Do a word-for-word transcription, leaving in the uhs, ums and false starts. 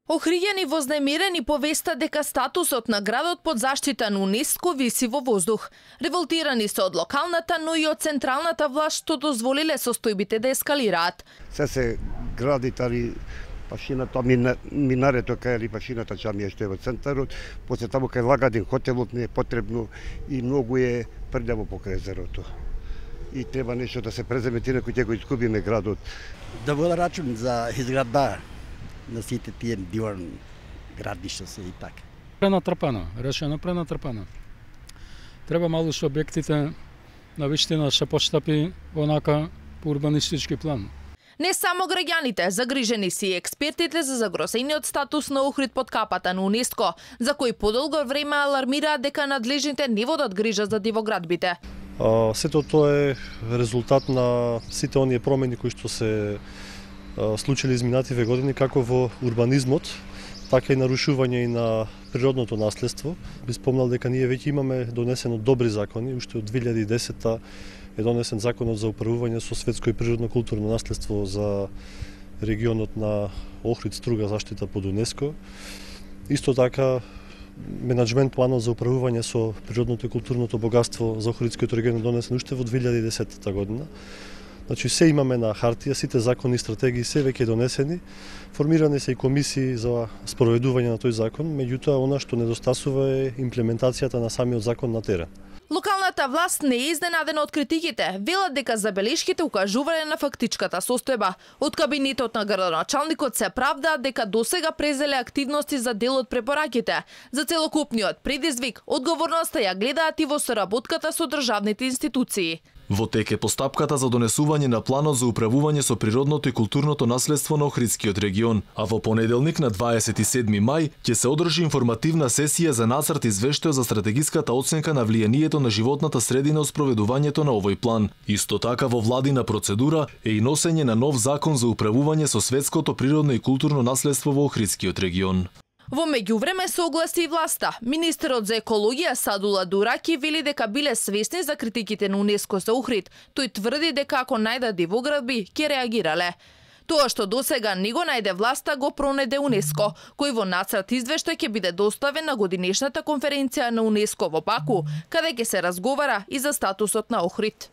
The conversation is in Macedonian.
Охриѓани вознемирени повеста дека статусот на градот под заштита на УНЕСКО виси во воздух. Револтирани се од локалната, но и од централната власт што дозволиле состојбите да ескалираат. Се се гради тари пашината, минарето кај или пашината џамија што е во центарот, после таму кај Лагадин хотелот не е потребно и многу е прљаво покрај езерото. И треба нешто да се преземе, инаку ќе го изгубиме градот. Да вода рачун за изградба на сите тие диворни градишта се и така. Пренатрпано, решено пренатрпано. Треба малку што објектите на вистина се постапи онака по урбанистички план. Не само граѓаните, загрижени си и експертите за загрозениот статус на Охрид под капата на УНЕСКО, за кои подолго време алармираат дека надлежните не водат грижа за дивоградбите. А, сето тоа е резултат на сите оние промени кои што се а, случили изминативе години, како во урбанизмот, така и нарушување и на природното наследство. Би спомнал дека ние веќе имаме донесено добри закони, уште од две илјади и десета е донесен законот за управување со светско и природно културно наследство за регионот на Охрид, Струга, заштита под УНЕСКО. Исто така менаџмент планот за управување со природното и културното богатство за Охридскиот регион донесен уште во две илјади и десета година. Значи се имаме на хартија, сите закони и стратегии се веќе донесени. Формирани се и комисии за спроведување на тој закон, меѓутоа она што недостасува е имплементацијата на самиот закон на терен. Локалната власт не е изненадена од критиките. Велат дека забелешките укажувале на фактичката состојба. Од кабинетот на градоначалникот се правдаат дека досега презеле активности за дел од препораките. За целокупниот предизвик, одговорноста ја гледаат и во соработката со државните институции. Во тек е постапката за донесување на планот за управување со природното и културното наследство на Охридскиот регион, а во понеделник на дваесет и седми мај ќе се одржи информативна сесија за нацрт извештај за стратегиската оценка на влијанието на животната средина од спроведувањето на овој план. Исто така во владина процедура е и носење на нов закон за управување со светското природно и културно наследство во Охридскиот регион. Во меѓувреме се огласи и власта. Министерот за екологија Садула Дураки вели дека биле свесни за критиките на УНЕСКО за Охрид. Тој тврди дека ако најдат дивоградби, ќе реагирале. Тоа што досега не го најде власта го пронеде УНЕСКО, кој во нацрт извештај ќе биде доставен на годинешната конференција на УНЕСКО во Баку, каде ќе се разговара и за статусот на Охрид.